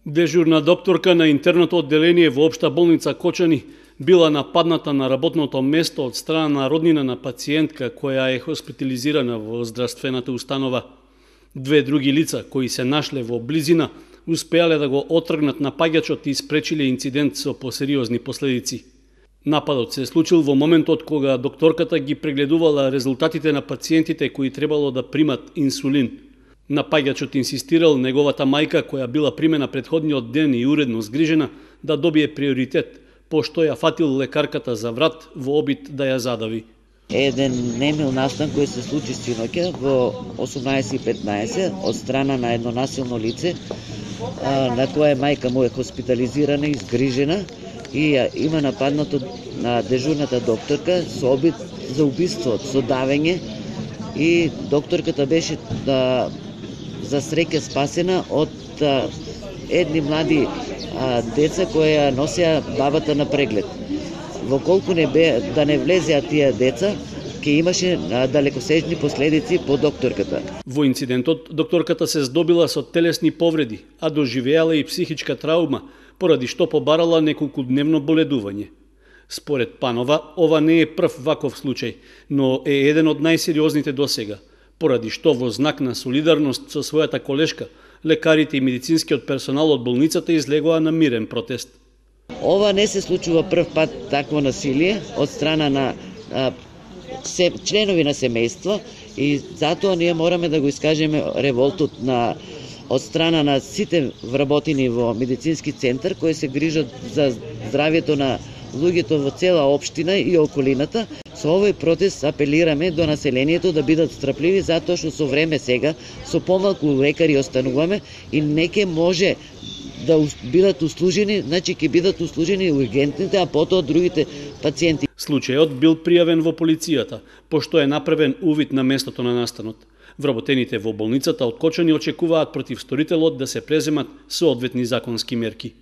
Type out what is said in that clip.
Дежурна докторка на интерното одделение во Општа болница Кочани била нападната на работното место од страна на роднина на пациентка која е хоспитализирана во здравствената установа. Две други лица кои се нашле во близина успеале да го отргнат напаѓачот и спречиле инцидент со посериозни последици. Нападот се случил во моментот кога докторката ги прегледувала резултатите на пациентите кои требало да примат инсулин. Напаѓачот инсистирал неговата мајка, која била примена претходниот ден и уредно згрижена, да добие приоритет, пошто ја фатил лекарката за врат во обид да ја задави. Еден немил настан кој се случи синоќа во 18:15 од страна на едно насилно лице, на кое мајка му е хоспитализирана и згрижена и има нападнато на дежурната докторка со обид за убиство, со давење, и докторката беше за среќа спасена од едни млади деца кои ја носеа бабата на преглед. Воколку да не влезеа тие деца, ќе имаше далекосежни последици по докторката. Во инцидентот докторката се здобила со телесни повреди, а доживеала и психичка траума, поради што побарала неколкудневно боледување. Според Панова, ова не е прв ваков случај, но е еден од најсериозните досега, поради што во знак на солидарност со својата колешка, лекарите и медицинскиот персонал од болницата излегоа на мирен протест. Ова не се случува прв пат такво насилие од страна на членови на семејство и затоа ние мораме да го искажеме револтот од страна на сите вработени во медицински центар кои се грижат за здравјето на луѓето во цела општина и околината. Со овој протест апелираме до населението да бидат страпливи, затоа што со време сега, со помалку лекари остануваме и не ќе може да бидат услужени, значи ќе бидат услужени ургентните, а потоа другите пациенти. Случајот бил пријавен во полицијата, пошто е направен увид на местото на настанот. Вработените во болницата од Кочани очекуваат против сторителот да се преземат соодветни законски мерки.